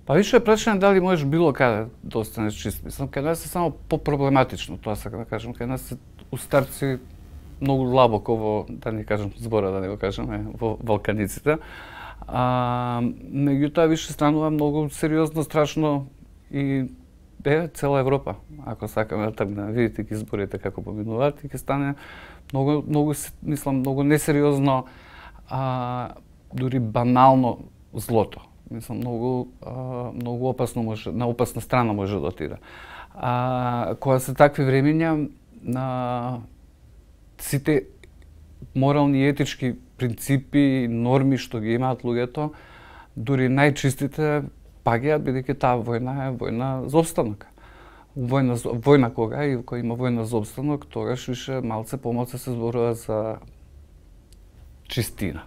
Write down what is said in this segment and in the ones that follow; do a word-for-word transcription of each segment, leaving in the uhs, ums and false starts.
Па више прашање дали можеш било каде да останеш чист. Мислам, кај нас е само по-проблематично, тоа сакам да кажам. Кај нас е у старци многу длабоко во, да не кажам збора, да не го кажеме, во Валканиците. А, меѓутоа више станува многу сериозно, страшно и е цела Европа. Ако сакаме да тргне, видите ги изборите како поминуваат и ќе стане многу многу мислам многу несериозно, а, дури банално злото. Мислам многу а, многу опасно може, на опасна страна може да отиде. А кога се такви времиња, на сите морални и етички принципи и норми што ги имаат луѓето, дури најчистите паѓаат, бидејќи таа војна е војна за опстанок. Војна, војна кога и кога има војна за опстанок, тогаш више малце помалце се зборува за чистина.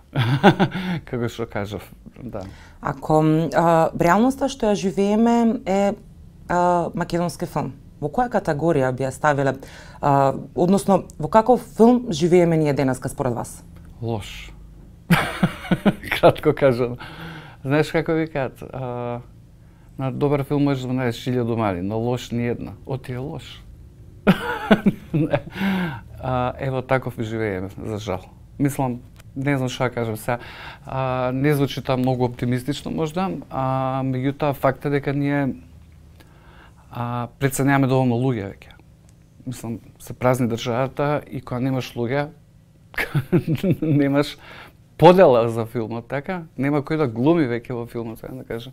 Како што кажав, да. Ако а, реалноста што ја живееме е а, македонски филм, во која категорија би ја ставиле, а, односно во каков филм живееме ние денеска според вас? Лош. Кратко кажано. Знаеш како викаат, а, на добар филм можеш да најдеш илјаду мани, но лош ни една. Оти е лош. а, ево таков живееме, за жал. Мислам, не знам што да кажам сега. А, не звучи тоа многу оптимистично можда, а меѓутоа факт е дека ние а, преценяваме доволно луѓе веќе. Мислам, се празни државата и кога немаш луѓе, немаш подела за филмот, така? Нема кој да глуми веќе во филмот, да кажам.